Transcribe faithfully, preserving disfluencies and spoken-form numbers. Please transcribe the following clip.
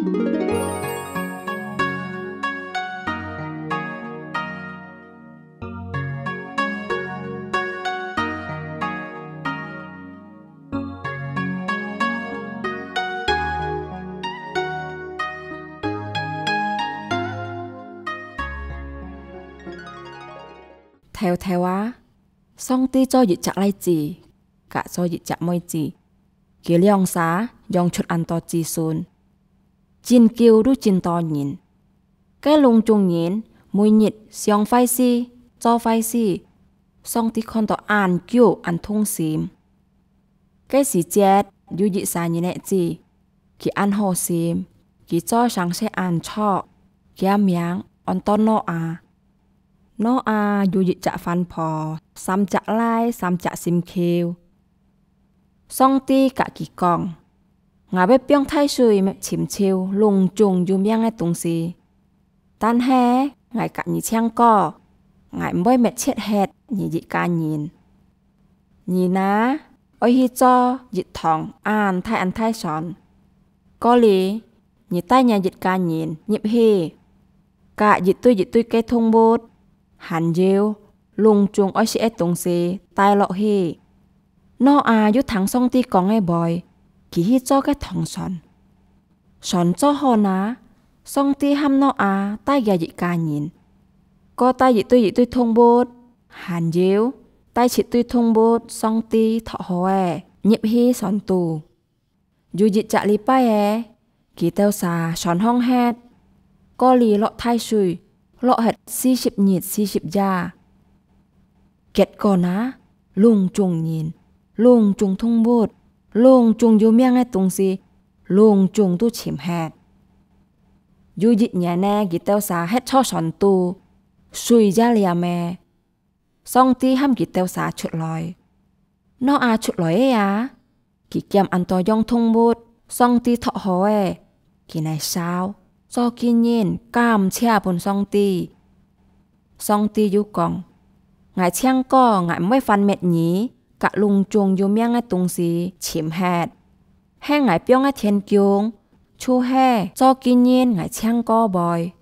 頭頭啊，上帝做一隻倈子，佮做一隻妹子，佢兩儕養出恁多子孫，真久都真多人。該攏總人每日想壞事、做壞事，上帝看到恁久恁痛心。該時節有一儕人仔子，佢恁好心，佢做成事恁著，厥名安到挪亞。挪亞有一隻番婆，三隻倈，三隻心臼。上帝佮佢講：「𠊎會放大水尋尋攏總有命个東西，但係𠊎佮你請過，𠊎毋會滅絕忒你一家人。你呢，愛去做一趟恁大恁大船，過哩，你帶若一家人入去，佮一對一對个動物，還有攏總愛食个東西帶落去。」挪亞有聽上帝講个話，佢去做該趟船。船做好哪，上帝喊挪亞帶厥一家人，過帶一對一對動物，還有帶七對動物上帝擇好个，入去船肚。有一隻禮拜仔，佢兜儕船䟘忒，過哩落大水，落忒四十日四十夜。結果哪，攏總人、攏總動物、攏總有命个東西，攏總都尋忒。有一年仔，佢兜儕歇在船肚，水也啉吔，上帝喊佢兜儕出來。挪亞出來吔啊，佢撿恁多樣動物，上帝擇好个，佢來燒，做紀念，感謝分上帝。上帝又講：「𠊎請過，𠊎毋會翻滅你，佮攏總有命个東西尋忒。係𠊎放个天弓，就係做紀念𠊎請過會